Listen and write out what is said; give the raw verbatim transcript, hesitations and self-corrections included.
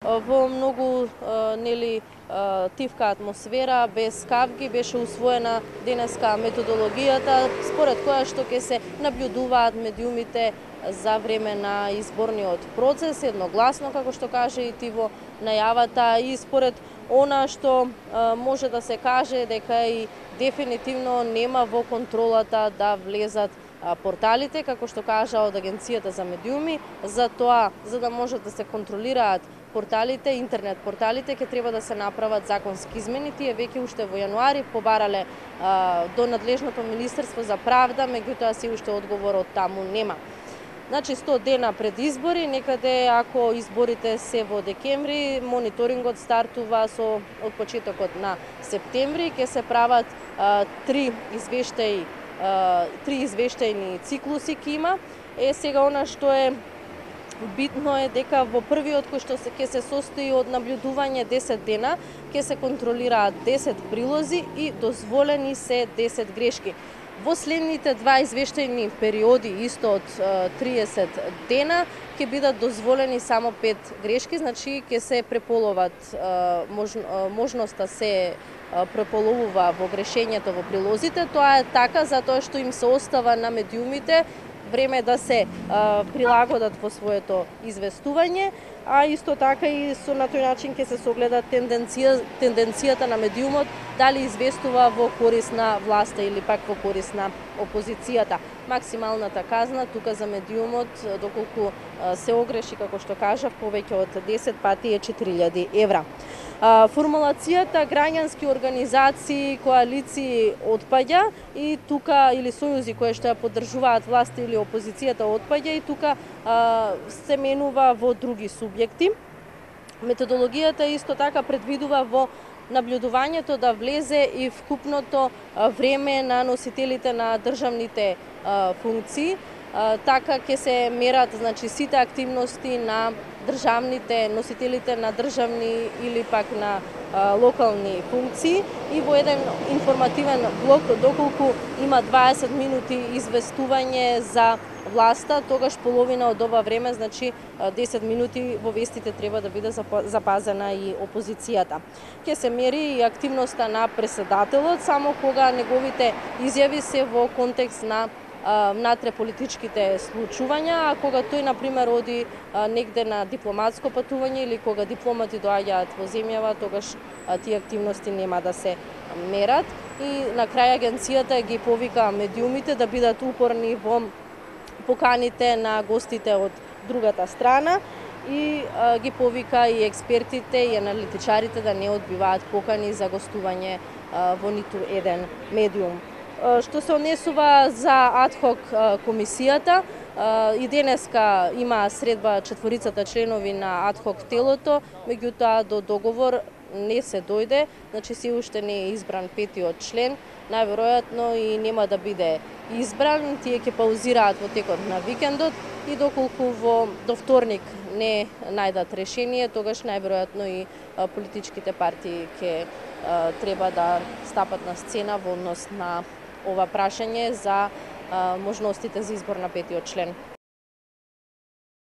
Во многу нели тивка атмосфера, без кавги, беше усвоена денеска методологијата според која што ќе се набљудуваат медиумите за време на изборниот процес, едногласно како што каже и ти во најавата, и според она што може да се каже дека и дефинитивно нема во контролата да влезат порталите, како што кажа од Агенцијата за медиуми. За тоа, за да можат да се контролираат порталите, интернет порталите, ќе треба да се направат законски измени. Тие веќе уште во јануари побарале а, до надлежното Министерство за правда, меѓутоа се уште одговор од таму нема. Значи сто дена пред избори, некаде ако изборите се во декември, мониторингот стартува со од почетокот на септември, ќе се прават а, три извештаи, а, три извештајни циклуси ќе има. Е сега она што е битно е дека во првиот кој што се ќе се состои од набљудување десет дена, ќе се контролираат десет прилози и дозволени се десет грешки. Во следните два извештајни периоди, исто од триесет дена, ќе бидат дозволени само пет грешки, значи ќе се преполоват, можноста се преполовува во грешењето во прилозите. Тоа е така затоа што им се остава на медиумите време да се а, прилагодат во своето известување, а исто така и со на тој начин ќе се согледа тенденција, тенденцијата на медиумот дали известува во корис на власта или пак во корис на опозицијата. Максималната казна тука за медиумот, доколку а, се огреши, како што кажав, повеќе од десет пати е четири илјади евра. А, формулацијата граѓански организации, коалиции отпаѓа и тука, или сојузи кои што ја поддржуваат власта или опозицијата отпаѓа и тука а, се менува во други субјекти. Методологијата исто така предвидува во набљудувањето да влезе и вкупното време на носителите на државните а, функции. А, така ќе се мерат, значи, сите активности на државните носителите на државни или пак на а, локални функции и во еден информативен блок, доколку има дваесет минути известување за власта, тогаш половина од ова време, значи десет минути во вестите треба да биде запазена и опозицијата. Ќе се мери и активноста на претседателот само кога неговите изјави се во контекст на внатре политичките случувања, а кога тој, например, оди негде на дипломатско патување или кога дипломати доаѓаат во земјава, тогаш тие активности нема да се мерат. И на крај агенцијата ги повика медиумите да бидат упорни во поканите на гостите од другата страна и а, ги повика и експертите и аналитичарите да не одбиваат покани за гостување а, во ниту еден медиум. Што се однесува за адхок комисијата, и денеска има средба четворицата членови на адхок телото, меѓутоа до договор не се дојде, значи се уште не е избран петиот член, најверојатно и нема да биде избран, тие ќе паузираат во текот на викендот и доколку во до вторник не најдат решение, тогаш најверојатно и политичките партии ќе треба да стапат на сцена во однос на ова прашање за а, можностите за избор на петиот член.